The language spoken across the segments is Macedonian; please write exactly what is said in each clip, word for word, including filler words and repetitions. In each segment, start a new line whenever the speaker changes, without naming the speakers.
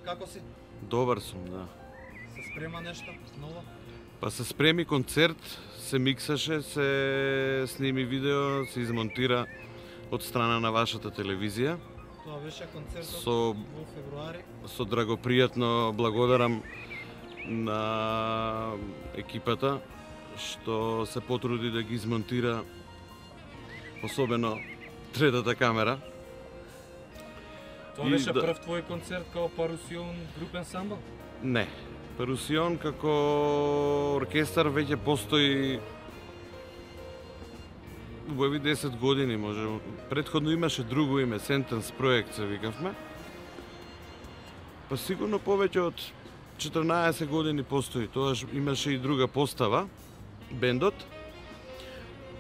како си?
Добар сум, да.
Се спрема нешто ново?
Па се спреми концерт, се миксаше, се сними видео, се измонтира од страна на вашата телевизија.
Тоа беше концертот
Со,
во февруари.
со драгопријатно благодарам на екипата што се потруди да ги измонтира, особено третата камера.
Тоа
И
беше
да-
прв твој концерт као Парусион груп ансамбл?
Не. Парусион како оркестар веќе постои убави десет години, може. Предходно имаше друго име, Sentence проект се викавме. Па сигурно повеќе од четрнаесет години постои. Тоаш имаше и друга постава, бендот.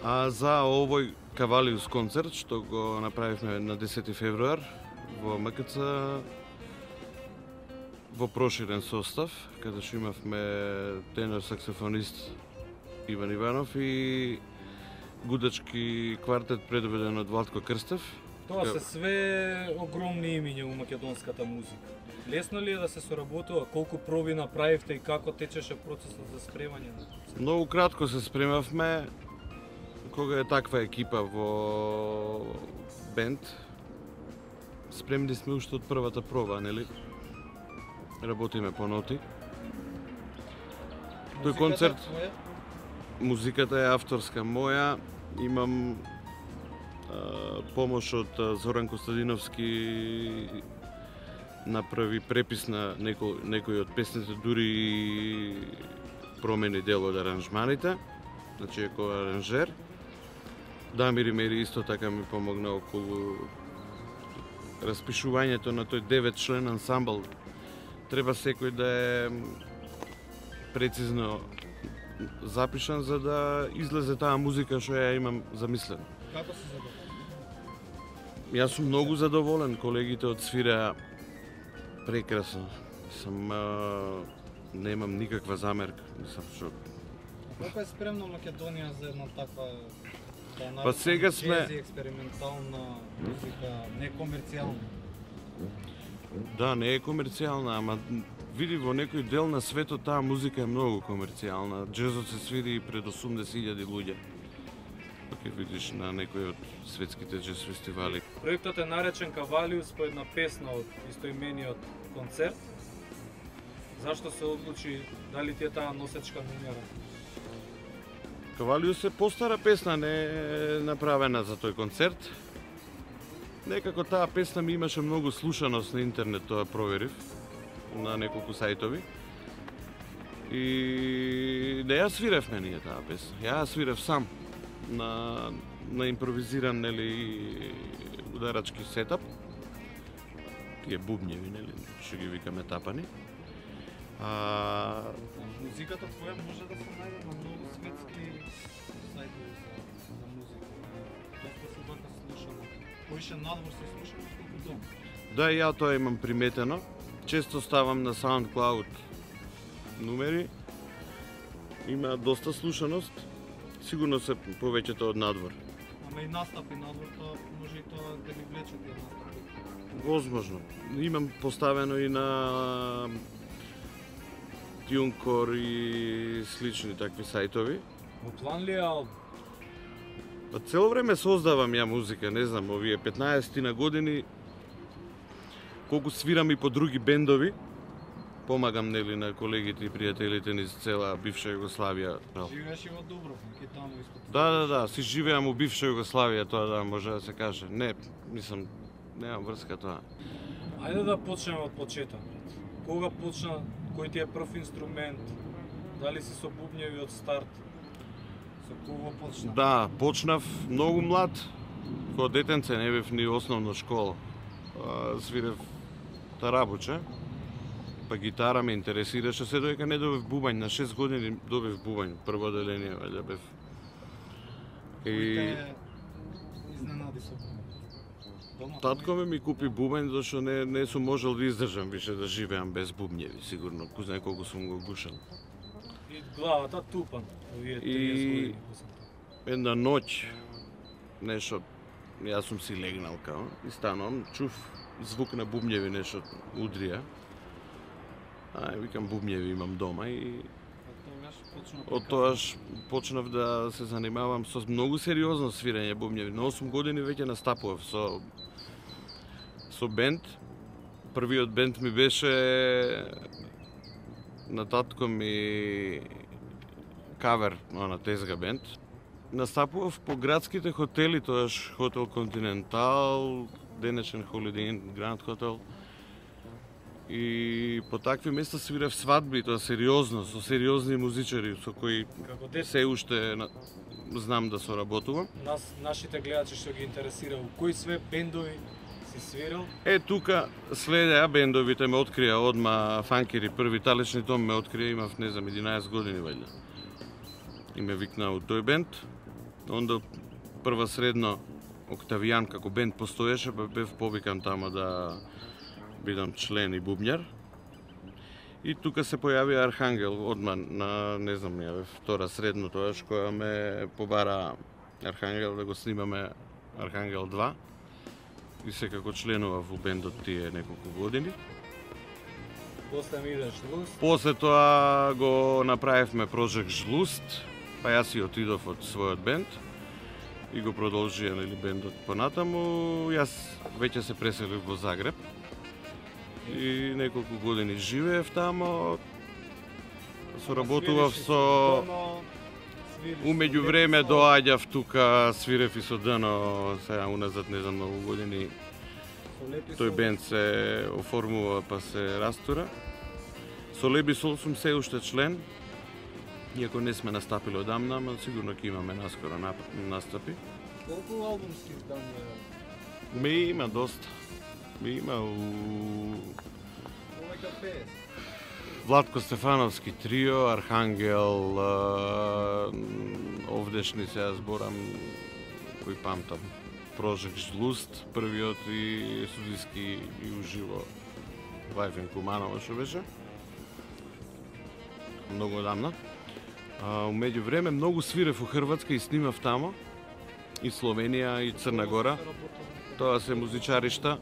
А за овој Кавалиус концерт, што го направивме на десети февруар во М К Ц, во проширен состав, каде што имавме тенор саксофонист Иван Иванов и гудачки квартет предведен од Владко Крстев.
Тоа се све огромни имиња у македонската музика. Лесно ли е да се соработува? Колку проби направивте и како течеше процесот за спремање на концерт?
Многу кратко се спремавме, кога е таква екипа во бенд. Спремни сме уште од првата проба, нели? Работиме по ноти. Тој концерт,
Твоја?
музиката е авторска моја, имам а, помош од а, Зоран Костадиновски, направи препис на некој, некој од песните, дури и промени дел од аранжманите, значи како аранжер. Дамир Имери исто така ми помогна околу распишувањето на тој девет член ансамбл. Треба секој да е прецизно запишан за да излезе таа музика што ја имам замислена.
Како се задоволен?
Јас сум многу задоволен, колегите одсвираа прекрасно. Сам а, немам никаква замерка, сам што.
Колку е спремна Македонија за една таква да
Па сега сме-
джези, експериментална музика, некомерцијална?
Да, не е комерцијална, ама види во некој дел на светот таа музика е многу комерцијална. Джезот се свири и пред осумдесет илјади луѓе. Ако видиш на некој од светските джез фестивали.
Проектот е наречен Кавалиус по една песна од истоимениот концерт. Зашто се одлучи, дали ти е таа носечка номера?
Кавалиус е постара песна, не е направена за тој концерт. Некако таа песна ми имаше многу слушаност на интернет, тоа проверив на неколку сајтови. И не ја свиревме ние таа песна. Ја ја свирев сам на на импровизиран, нели, ударачки сетап. Тие бубњеви, нели, што ги викаме тапани. А
Музиката твоја може да се најде на многу светски сајтови за, за музика. Доста се вака слушано. Поише надвор се слушано колку дом.
Да, и ја тоа имам приметено. Често ставам на SoundCloud numeri. Има доста слушаност. Сигурно се повеќето од надвор.
Ама и настапи надвор, тоа може и тоа да ги влече тие настапи.
Возможно. Имам поставено и на TuneCore и слични такви сајтови.
Во план ли е албум?
Па цело време создавам ја музика, не знам, овие петнаесет на години, колку свирам и по други бендови, помагам, нели, на колегите и пријателите низ цела бивша Југославија.
Живееш и во Дубровник и таму испод.
Да, да, да, си живеам у бивша Југославија, тоа да, може да се каже. Не, мислам, немам врска тоа.
Ајде да почнеме од почеток. Кога почна, кој ти е прв инструмент? Дали си со бубњеви од старт?
Со кого почна?
Да, почнав многу млад, кога детенце не бев ни основна школа. А, свирев тарабуче, па гитара ме интересираше, се додека не добив бубањ, на шест години добив бубањ, прво деление, вајде бев.
Кој
И
те изненади со бубањ? Дома?
татко ме ми купи бубањ, зашто не, не сум можел да издржам више да живеам без бубњеви, сигурно, кој знае колку сум го гушал.
И главата тупан. Овие
И-
триесет години.
Една ноќ, нешто, јас сум си легнал као, и станам, чув звук на бубњеви, нешто удрија. Ај, викам, бубњеви имам дома и
Тогаш почнав
од тоаш почнав да се занимавам со многу сериозно свирење бубњеви. На осум години веќе настапував со со бенд. Првиот бенд ми беше на татко ми кавер на тезга бенд. Настапував по градските хотели, тоаш Хотел Континентал, денешен Holiday Inn Grand Hotel. И по такви места свирев свадби, тоа сериозно, со сериозни музичари со кои
Како дете,
се уште на- знам да соработувам.
нас, нашите гледачи што ги интересира, у кои све бендови си свирал?
Е, тука следеа бендовите ме открија одма фанкери, први талечни том ме открија, имав, не знам, единаесет години вајде. И ме викнаа у тој бенд. Онда прва средно Октавијан како бенд постоеше, па бев повикан тама да бидам член и бубњар. И тука се појави Архангел одма на, не знам, ја бев втора средно тоаш, која ме побара Архангел да го снимаме Архангел два. И секако членував во бендот тие неколку години.
После ми идеш луст,
После тоа го направивме Project Жлуст, па јас и отидов од својот бенд и го продолжија, нели, бендот понатаму. Јас веќе се преселив во Загреб и неколку години живеев тамо. Соработував со... Умеѓу време доаѓав тука, свирев и со Дано, сега уназад не знам многу години. Тој бенд се оформува па се растура. Со Леби Сол сум се уште член, иако не сме настапили одамна, ама сигурно ќе имаме наскоро нап- настапи.
Колку албумски издания?
Ме има доста. Ме има у
Повеќе од петдесет.
Владко Стефановски трио, Архангел, а, овдешни сега зборам, кој памтам. Project Жлуст, првиот и студиски и уживо Вајфен Куманова што беше. Многу одамна. А, умеѓу време многу свирев у Хрватска и снимав тамо, и Словенија, и Црна Гора. Тоа се музичаришта.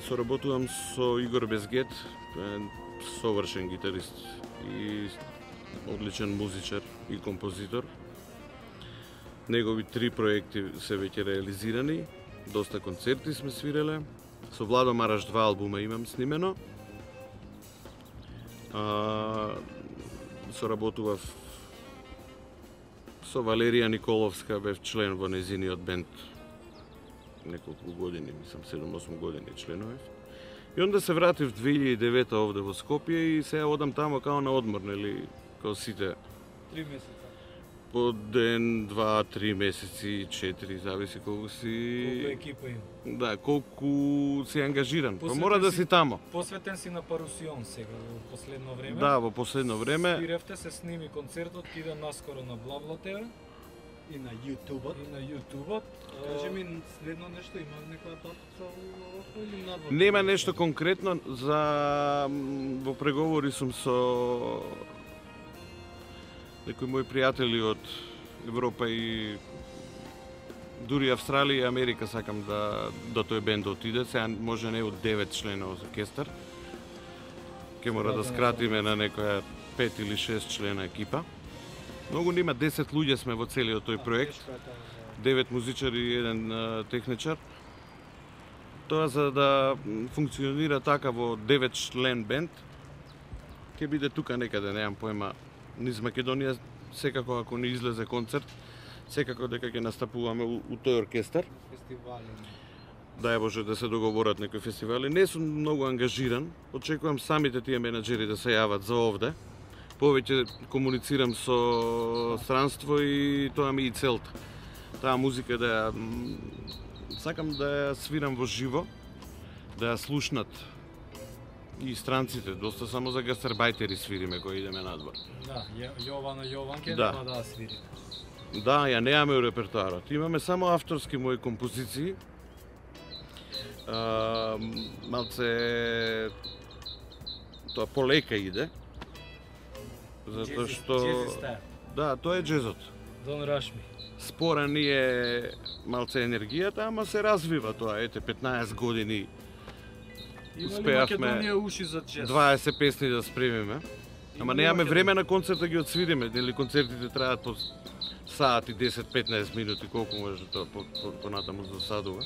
Соработувам со Игор Безгет, тој е совршен гитарист и одличен музичар и композитор. Негови три проекти се веќе реализирани, доста концерти сме свиреле. Со Владо Мараш два албума имам снимено. А, соработував со Валерија Николовска, бев член во незиниот бенд неколку години, мислам седум-осум години членував. И онда се вратив две илјади и девета овде во Скопје и сега одам тамо као на одмор, нели, као сите.
три месеца.
По ден, два, три месеци, четири, зависи колку
Колку
си...
екипа има?
Да, колку си ангажиран. Па
Посветен
мора да
си-
си тамо.
Посветен си на Парусион сега во последно време.
Да, во последно време.
Свиревте, се сними концертот, ќе иде наскоро на Блабла ТВ
И на YouTube-от.
и на YouTube-от.
Кажи ми следно нешто, има некоја татуца овако или надвор?
Нема нешто конкретно, за м, во преговори сум со некои мои пријатели од Европа и дури Австралија и Америка сакам да до тој бенд отиде. Сега може не од девет членов оркестар. Ке мора да скратиме на некоја пет или шест члена екипа. Многу нема, десет луѓе сме во целиот тој проект.
Тешко е тоа, да.
девет музичари и еден а, техничар. Тоа за да м, функционира така во девет член бенд, ќе биде тука некаде, немам поема, низ Македонија, секако ако не излезе концерт, секако дека ќе настапуваме у, у тој оркестар.
Фестивали.
Дај Боже да се договорат некои фестивали. Не сум многу ангажиран, очекувам самите тие менаџери да се јават за овде. Повеќе комуницирам со странство и тоа ми е и целта. Таа музика да ја м, сакам да ја свирам во живо, да ја слушнат и странците, доста само за гастарбајтери свириме кои идеме надвор.
Да, Ја- Јована Јованке
Да.
нема да ја свири.
Да, ја немаме у репертоарот. Имаме само авторски мои композиции. А, малце тоа полека иде. Затоа
Джези-
што
Джези стайл.
да, тоа е джезот.
Don't rush me.
Спора ни е малце енергијата, ама се развива тоа. Ете, петнаесет години
Има ли
успеавме
Македонија уши за джез?
дваесет песни да спремиме. Ама
Има ли
немаме
Македонија?
време на концерт да ги отсвириме, дали концертите траат по саат и десет-петнаесет минути, колку може тоа по, по, понатаму за садува.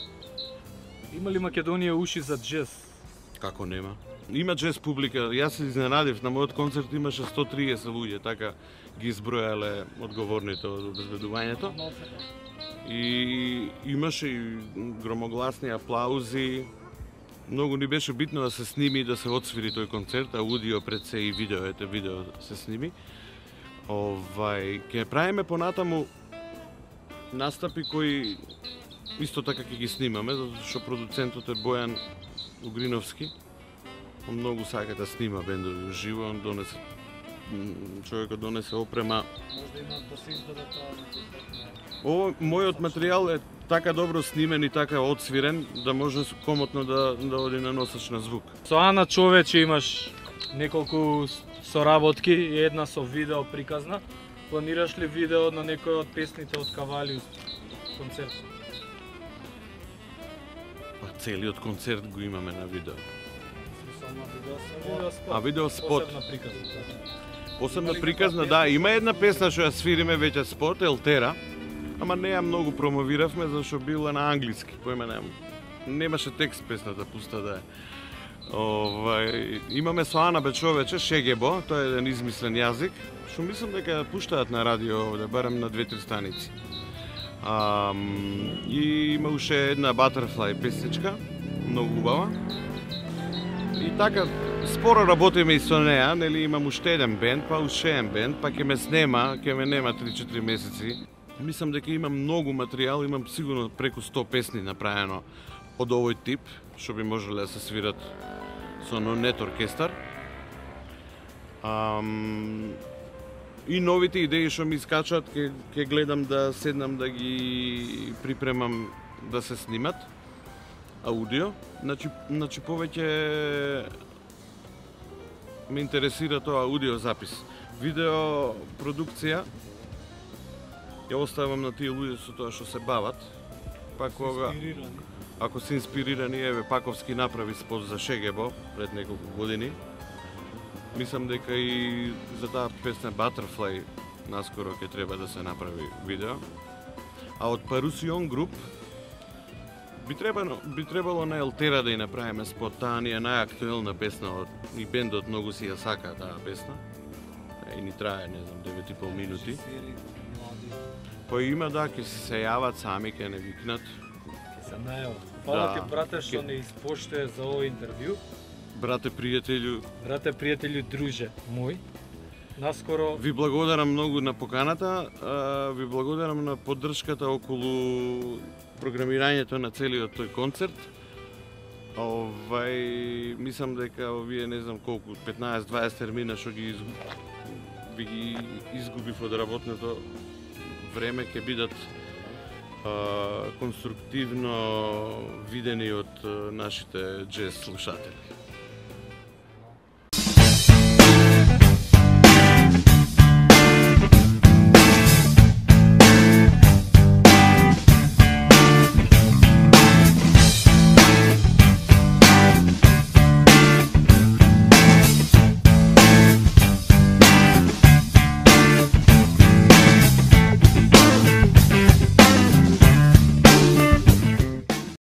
Има ли Македонија уши за джез?
Како нема? Има джез публика. Јас се изненадив, на мојот концерт имаше сто триесет луѓе, така ги избројале одговорните од обезбедувањето. И имаше и громогласни аплаузи. Многу ни беше битно да се сними и да се отсвири тој концерт, аудио пред се и видео, ете видео се сними. Овај, ќе правиме понатаму настапи кои исто така ќе ги снимаме, затоа што продуцентот е Бојан Угриновски. Он многу сака да снима бендови уживо, он донесе м, човекот донесе опрема.
Можда има да се издаде тоа.
Ово мојот материјал е така добро снимен и така отсвирен да може комотно да да оди на носач на звук.
Со Ана човече имаш неколку с- соработки и една со видео приказна. Планираш ли видео на некој од песните од Кавалиус концерт?
Па целиот концерт го имаме на видео.
Смисол на видео со видео спот.
А видео спот.
Посебна приказна.
Посебна
Има ли
приказна,
каква
да,
песна?
има една песна што ја свириме веќе спот, Елтера, ама не ја многу промовиравме зашто била на англиски, поиме немам. Немаше текст песната, пуста да е. Овај, имаме со Ана Бечовече, Шегебо, тоа е еден измислен јазик, што мислам дека ја пуштаат на радио овде, барем на две-три станици. Ам, и има уште една Butterfly песничка, многу убава. И така, споро работиме и со неа, нели имам уште еден бенд, па уште еден бенд, па ќе ме снема, ќе ме нема три-четири месеци. Мислам дека имам многу материјал, имам сигурно преку сто песни направено од овој тип, што би можеле да се свират со нет оркестар. Ам, и новите идеи што ми искачат, ќе ќе гледам да седнам да ги припремам да се снимат аудио. Значи, значи повеќе ме интересира тоа аудио запис. Видео продукција ја оставам на тие луѓе со тоа што се бават. Па кога
Инспирирани.
ако се инспирирани, еве Паковски направи спот за Шегебо пред неколку години. Мислам дека и за таа песна Butterfly наскоро ќе треба да се направи видео. А од Парусион груп би требало би требало на Елтера да ја направиме спот, таа ни е најактуелна песна од и бендот многу си ја сака таа песна. И ни трае, не знам, девет и пол минути.
Режисери, млади.
Па има да, ќе се јават сами, ќе не викнат.
Ќе се најават. Фала
Да.
ти, брате, што
Ке-
не испоштuje за ово интервју.
Брате, пријателju,
Брате, пријателju, друже мој. Наскоро
ви благодарам многу на поканата, а, ви благодарам на поддршката околу програмирањето на целиот тој концерт. Овај, мислам дека овие не знам колку петнаесет-дваесет термина што ги изгуб... ви ги изгубив од работното време ќе бидат а, конструктивно видени од а, нашите джез слушатели.